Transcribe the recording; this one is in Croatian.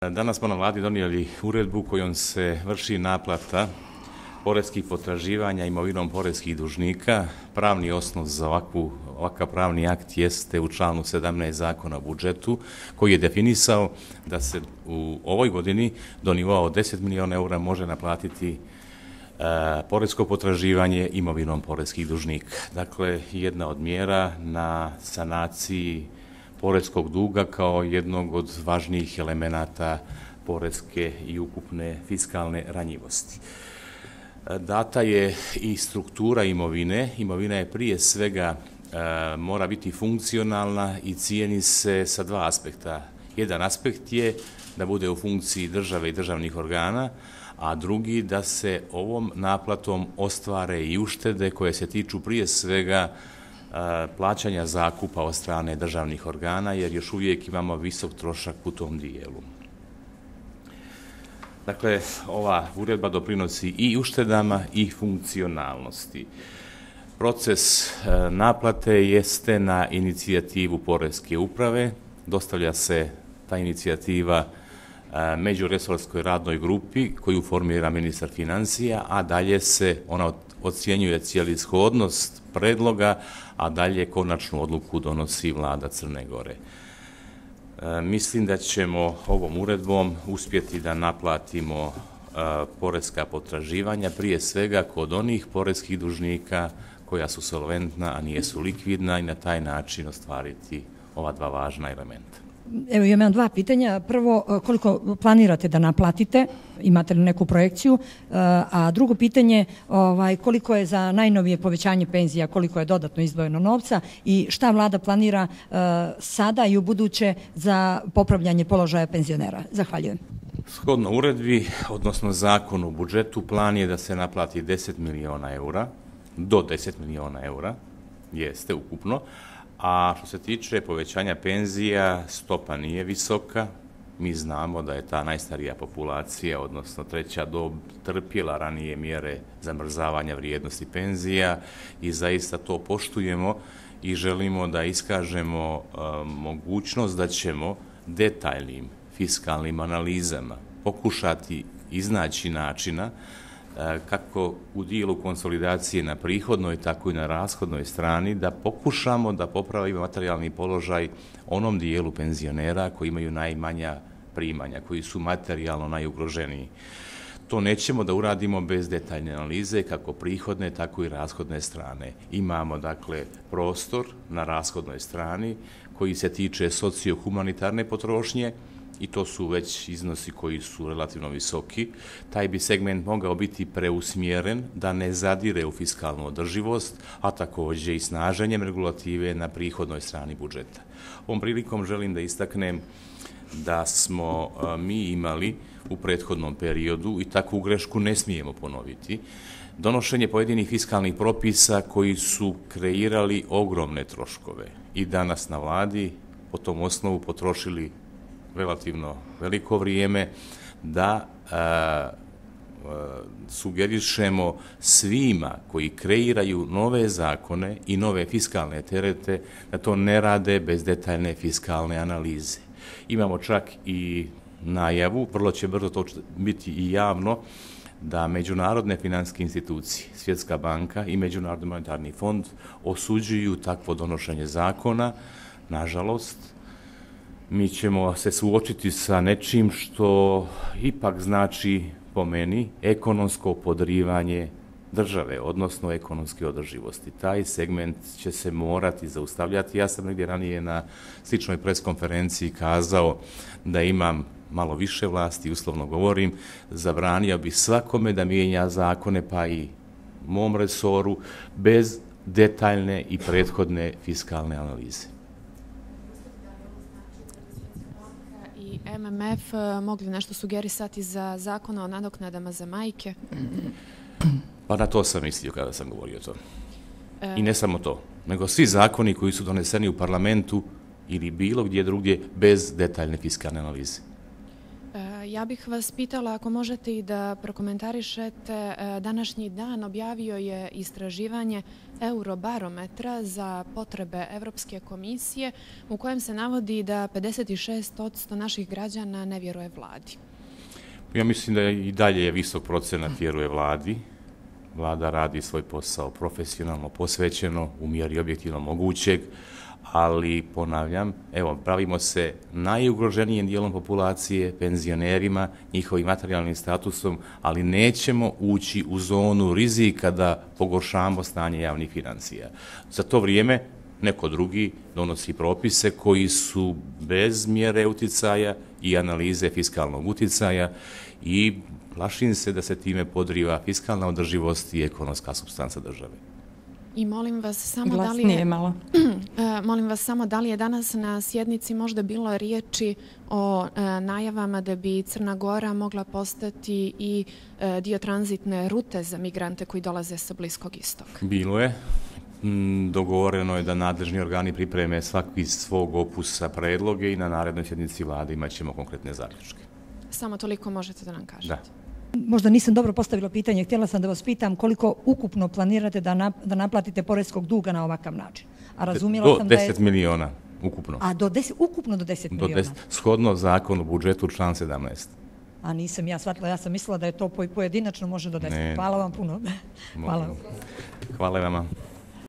Danas smo na vladi donijeli uredbu kojom se vrši naplata poreskih potraživanja imovinom poreskih dužnika. Pravni osnov za ovakav pravni akt jeste u članu 17 Zakona o budžetu, koji je definisao da se u ovoj godini do nivoa od 10 miliona eura može naplatiti poresko potraživanje imovinom poreskih dužnika. Dakle, jedna od mjera na sanaciji poreskog duga kao jednog od važnijih elemenata poreske i ukupne fiskalne ranjivosti. Data je i struktura imovine. Imovina je prije svega mora biti funkcionalna i cijeni se sa dva aspekta. Jedan aspekt je da bude u funkciji države i državnih organa, a drugi da se ovom naplatom ostvare i uštede koje se tiču prije svega plaćanja zakupa od strane državnih organa, jer još uvijek imamo visok trošak u tom dijelu. Dakle, ova uredba doprinosi i uštedama i funkcionalnosti. Proces naplate jeste na inicijativu Poreske uprave, dostavlja se ta inicijativa međuresorskoj radnoj grupi koju formira ministar financija, a dalje se ona ocjenjuje cijelishodnost predloga, a dalje konačnu odluku donosi vlada Crne Gore. Mislim da ćemo ovom uredbom uspjeti da naplatimo poreska potraživanja, prije svega kod onih poreskih dužnika koja su solventna, a nijesu likvidna, i na taj način ostvariti ova dva važna elementa. Evo, imam dva pitanja. Prvo, koliko planirate da naplatite? Imate li neku projekciju? A drugo pitanje, koliko je za najnovije povećanje penzija, koliko je dodatno izdvojeno novca i šta vlada planira sada i u buduće za popravljanje položaja penzionera? Zahvaljujem. Shodno uredbi, odnosno zakonu o budžetu, plan je da se naplati 10 miliona eura, do 10 miliona eura, jeste ukupno. A što se tiče povećanja penzija, stopa nije visoka. Mi znamo da je ta najstarija populacija, odnosno treća dob, trpjela ranije mjere zamrzavanja vrijednosti penzija i zaista to poštujemo i želimo da iskažemo mogućnost da ćemo detaljnim fiskalnim analizama pokušati iznaći načina kako u dijelu konsolidacije na prihodnoj, tako i na rashodnoj strani, da pokušamo da popravimo materijalni položaj onom dijelu penzionera koji imaju najmanja primanja, koji su materijalno najugroženiji. To nećemo da uradimo bez detaljne analize, kako prihodne, tako i rashodne strane. Imamo, dakle, prostor na rashodnoj strani koji se tiče socio-humanitarne potrošnje, i to su već iznosi koji su relativno visoki. Taj bi segment mogao biti preusmjeren da ne zadire u fiskalnu održivost, a također i snaženjem regulative na prihodnoj strani budžeta. Ovom prilikom želim da istaknem da smo mi imali u prethodnom periodu, i takvu grešku ne smijemo ponoviti, donošenje pojedinih fiskalnih propisa koji su kreirali ogromne troškove i danas na vladi po tom osnovu potrošili relativno veliko vrijeme da sugerišemo svima koji kreiraju nove zakone i nove fiskalne terete da to ne rade bez detaljne fiskalne analize. Imamo čak i najavu, vrlo će brzo to biti i javno, da međunarodne financijske institucije, Svjetska banka i Međunarodni monetarni fond osuđuju takvo donošenje zakona. Nažalost, mi ćemo se suočiti sa nečim što ipak znači, po meni, ekonomsko podrivanje države, odnosno ekonomske održivosti. Taj segment će se morati zaustavljati. Ja sam negdje ranije na sličnoj preskonferenciji kazao da imam malo više vlasti, uslovno govorim, zabranio bi svakome da mijenja zakone, pa i mom resoru, bez detaljne i prethodne fiskalne analize. MMF mogli nešto sugerisati za zakon o nadoknadama za majke? Pa na to sam mislio kada sam govorio to. I ne samo to, nego svi zakoni koji su doneseni u parlamentu ili bilo gdje drugdje bez detaljne fiskalne analize. Ja bih vas pitala ako možete i da prokomentarišete, današnji dan objavio je istraživanje Eurobarometra za potrebe Evropske komisije u kojem se navodi da 56% naših građana ne vjeruje vladi. Ja mislim da i dalje je visok procenat vjeruje vladi. Vlada radi svoj posao profesionalno, posvećeno, u mjeri objektivno mogućeg, ali ponavljam, evo, pravimo se najugroženijim dijelom populacije, penzionerima, njihovim materijalnim statusom, ali nećemo ući u zonu rizika da pogoršamo stanje javnih financija. Za to vrijeme neko drugi donosi propise koji su bez mjere uticaja i analize fiskalnog uticaja i plašim se da se time podriva fiskalna održivost i ekonomska supstanca države. I molim vas samo da li je danas na sjednici možda bilo riječi o najavama da bi Crna Gora mogla postati i dio tranzitne rute za migrante koji dolaze sa Bliskog istoka? Bilo je. Dogovoreno je da nadležni organi pripreme svaki svog opusa predloge i na narednoj sjednici vlade imat ćemo konkretne zaključke. Samo toliko možete da nam kažete. Da. Možda nisam dobro postavila pitanje, htjela sam da vas pitam koliko ukupno planirate da naplatite poreskog duga na ovakav način. A razumjela sam da je... Do 10 miliona ukupno. A ukupno do 10 miliona? Shodno zakonu o budžetu član 17. A nisam ja shvatila, ja sam mislila da je to pojedinačno može do 10. Hvala vam puno. Hvala vama.